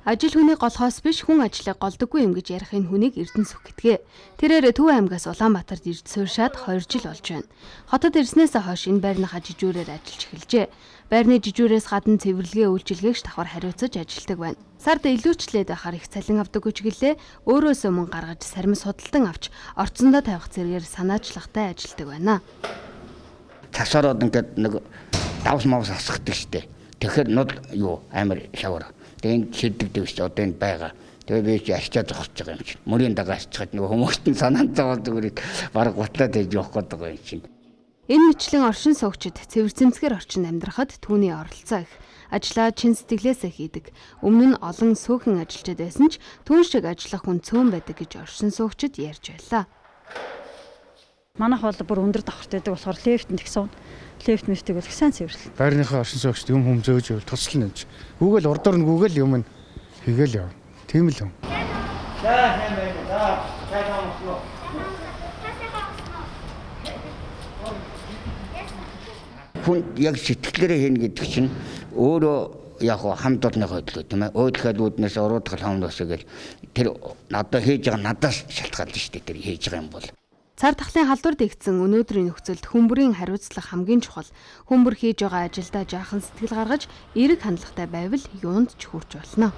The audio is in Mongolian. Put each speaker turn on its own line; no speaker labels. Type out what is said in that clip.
Ажил хүний голхоос биш хүн ажлыг голдоггүй юм гэж ярих энэ хүнийг Эрдэнэс сүх гэтгэ. Тэрээр Төв аймгаас Улаанбаатарт ирж сууршаад 2 жил болж байна. Хотод ирснээс хойш энэ байрныхаа жижүүрээр ажиллаж эхэлжээ. Байрны жижүүрээс гадна цэвэрлэгээ үйлчилгээгч давхар хариуцаж ажилладаг байна. Сард илүүчлээд байхаар их цалин авдаг үчгэлээ өөрөөсөө мөн гаргаж сармис худалдан авч орцондоо тавих зэрэгээр санаачлагтай ажилладаг байна.
Тасараад ингээд нэг давс мавс асахдаг штэ. Тэгэхээр нод юу амар шавар. Тэгээд шидэгдэг шүү. Одоо энэ байгаа. Тэгээд би ч арчаа зогсож байгаа юм чинь. Мөрийн дагаа асчихад нөгөө хүмүүст нь санаанд зовоод зүгээрийг баг гутлаад ээж явах гээд байгаа юм чинь.
Энэ мэтлэн оршин суугчид цэвэр цэмцгээр орчинд амьдрахад түүний оролцоо их. Ажлаа чин сэтгэлээсээ хийдэг. Өмнө нь олон сөөхөн ажилчид байсан ч түүн шиг ажиллах хүн цөөн байдаг гэж оршин суугчид ярьж байлаа.
Манайх бол бүр өндөр давхартай байдаг болохоор лефтэнд гисэн. Лефт мэфтийг бол сайн цэвэрлээ.
Байрныхаа оршин суугчид юм зөөж ивэл туслана гэж. Гүүгэл урдуур нь гүүгэл юм нь хийгээл яв. Тийм л юм.
Хүн яг сэтгэлээрээ хийнэ гэдэг чинь өөрөө яг хамт олонныхоо төлөө тийм ээ. Өөдхөд үүднээс уруудгал хамт өсөөгөл тэр одоо хийж байгаа надаас шалтгаалж штэ тэр хийж байгаа юм бол.
Цар тахлын халдвар дэгдсэн өнөөдрийн нөхцөлд хүмбэрийн хариуцлага хамгийн чухал. Хүмбэр хийж байгаа ажилдаа жаахан сэтгэл гаргаж, эерэг хандлагатай байвал юунд ч хүрч болно.